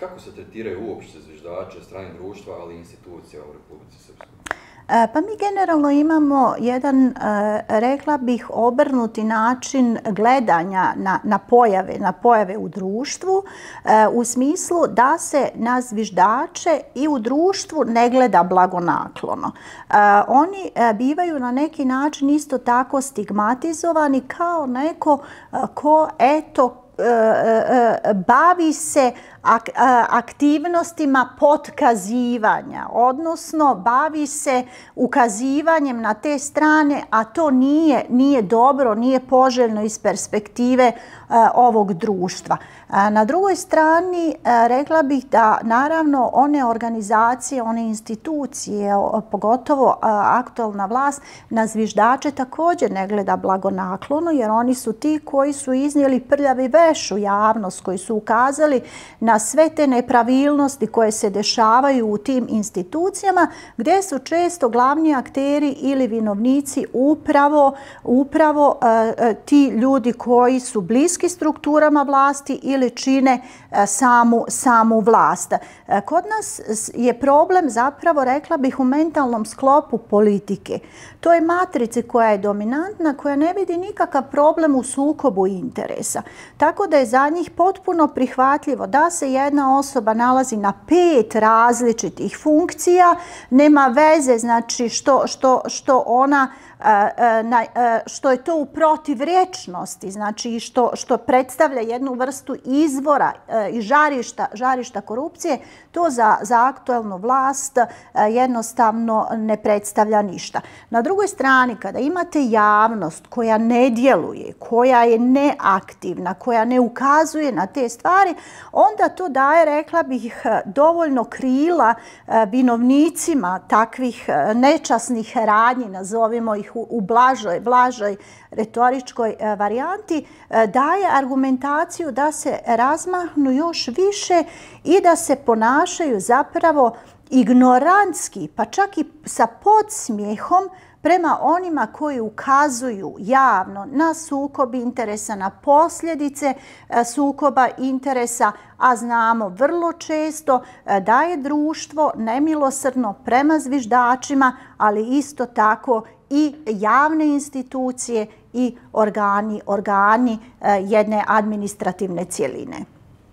kako se tretiraju uopšte zviždače strane društva, ali i institucija u Republici Srpskoj? Pa mi generalno imamo jedan, rekla bih, obrnuti način gledanja na pojave u društvu, u smislu da se na zviždače i u društvu ne gleda blagonaklono. Oni bivaju na neki način isto tako stigmatizovani kao neko ko, eto, bavi se aktivnostima potkazivanja, odnosno bavi se ukazivanjem na te strane, a to nije dobro, nije poželjno iz perspektive ovog društva. Na drugoj strani rekla bih da naravno one organizacije, one institucije, pogotovo aktualna vlast, na zviždače također ne gleda blagonaklono, jer oni su ti koji su iznijeli prljavi veš u javnost, koji su ukazali na sve te nepravilnosti koje se dešavaju u tim institucijama, gdje su često glavni akteri ili vinovnici upravo ti ljudi koji su bliski strukturama vlasti ili čine samu vlast. Kod nas je problem zapravo, rekla bih, u mentalnom sklopu politike. To je matrica koja je dominantna, koja ne vidi nikakav problem u sukobu interesa. Tako da je za njih potpuno prihvatljivo da se jedna osoba nalazi na 5 različitih funkcija, nema veze, znači što je to u protivrječnosti, znači što predstavlja jednu vrstu izvora i žarišta korupcije, to za aktualnu vlast jednostavno ne predstavlja ništa. Na drugoj strani, kada imate javnost koja ne djeluje, koja je neaktivna, koja ne ukazuje na te stvari, onda to daje, rekla bih, dovoljno krila vinovnicima takvih nečasnih radnji, nazovimo ih u blažoj retoričkoj varijanti, daje argumentaciju da se razmahnu još više i da se ponašaju zapravo ignorantski, pa čak i sa podsmijehom prema onima koji ukazuju javno na sukob interesa, na posljedice sukoba interesa, a znamo vrlo često da je društvo nemilosrdno prema zviždačima, ali isto tako i javne institucije i organi jedne administrativne cjeline.